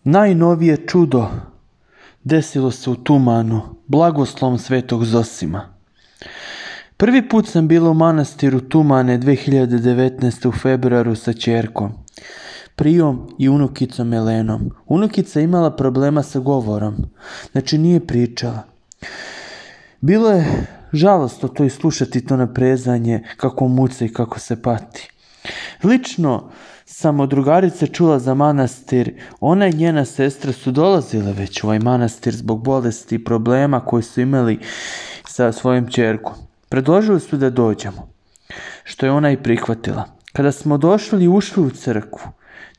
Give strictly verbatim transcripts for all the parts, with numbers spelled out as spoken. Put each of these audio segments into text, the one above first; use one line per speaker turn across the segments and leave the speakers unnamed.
Najnovije čudo desilo se u Tumanu, blagoslovom svetog Zosima. Prvi put sam bila u manastiru Tumane dve hiljade devetnaeste. u februaru sa ćerkom, Prijom i unukicom Elenom. Unukica imala problema sa govorom, znači nije pričala. Bilo je žalostno to i slušati to naprezanje, kako muca i kako se pati. Lično sam od drugarice čula za manastir, ona i njena sestra su dolazile već u ovaj manastir zbog bolesti i problema koji su imali sa svojim ćerkom. Predložili su da dođemo, što je ona i prihvatila. Kada smo došli i ušli u crkvu,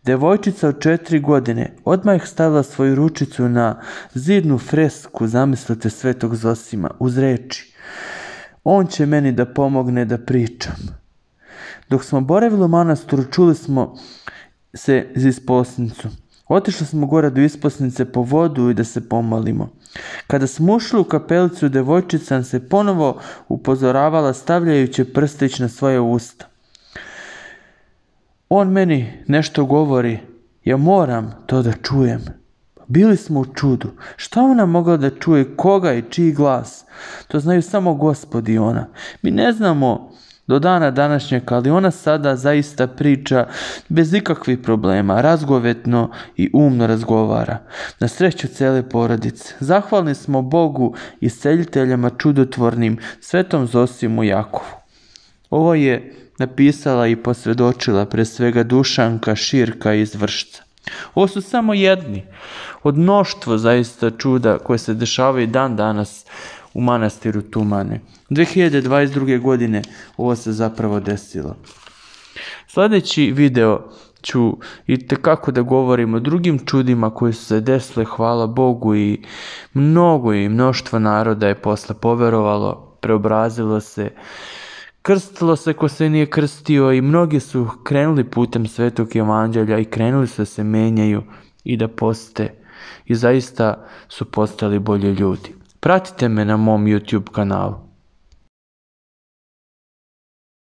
devojčica od četiri godine odmah je stavila svoju ručicu na zidnu fresku, zamislite, svetog Zosima, uz reči: "On će meni da pomogne da pričam." Dok smo boravili u manastiru, čuli smo se iz isposnicu. Otišli smo gore do isposnice po vodu i da se pomolimo. Kada smo ušli u kapelicu, devojčica nam se ponovo upozoravala stavljajući prstić na svoje usta. On meni nešto govori, ja moram to da čujem. Bili smo u čudu. Šta ona mogla da čuje, koga i čiji glas? To znaju samo Gospod i ona. Mi ne znamo do dana današnjeg, ali ona sada zaista priča bez ikakvih problema, razgovetno i umno razgovara. Na sreću cele porodice. Zahvalni smo Bogu i isceljiteljama čudotvornim, svetom Zosimu Jakovu. Ovo je napisala i posvjedočila pre svega Dušanka Širka iz Vršca. Ovo su samo jedni od mnoštvo zaista čuda koje se dešavaju dan danas u manastiru Tumane. dve hiljade dvadeset druge. godine ovo se zapravo desilo. Sljedeći video ću i tekako da govorim o drugim čudima koji su se desile, hvala Bogu, i mnogo i mnoštvo naroda je posle poverovalo, preobrazilo se, krstilo se ko se nije krstio i mnogi su krenuli putem Svetog Evanđelja i krenuli su da se menjaju i da poste i zaista su postali bolji ljudi. Pratite me na mom YouTube kanalu.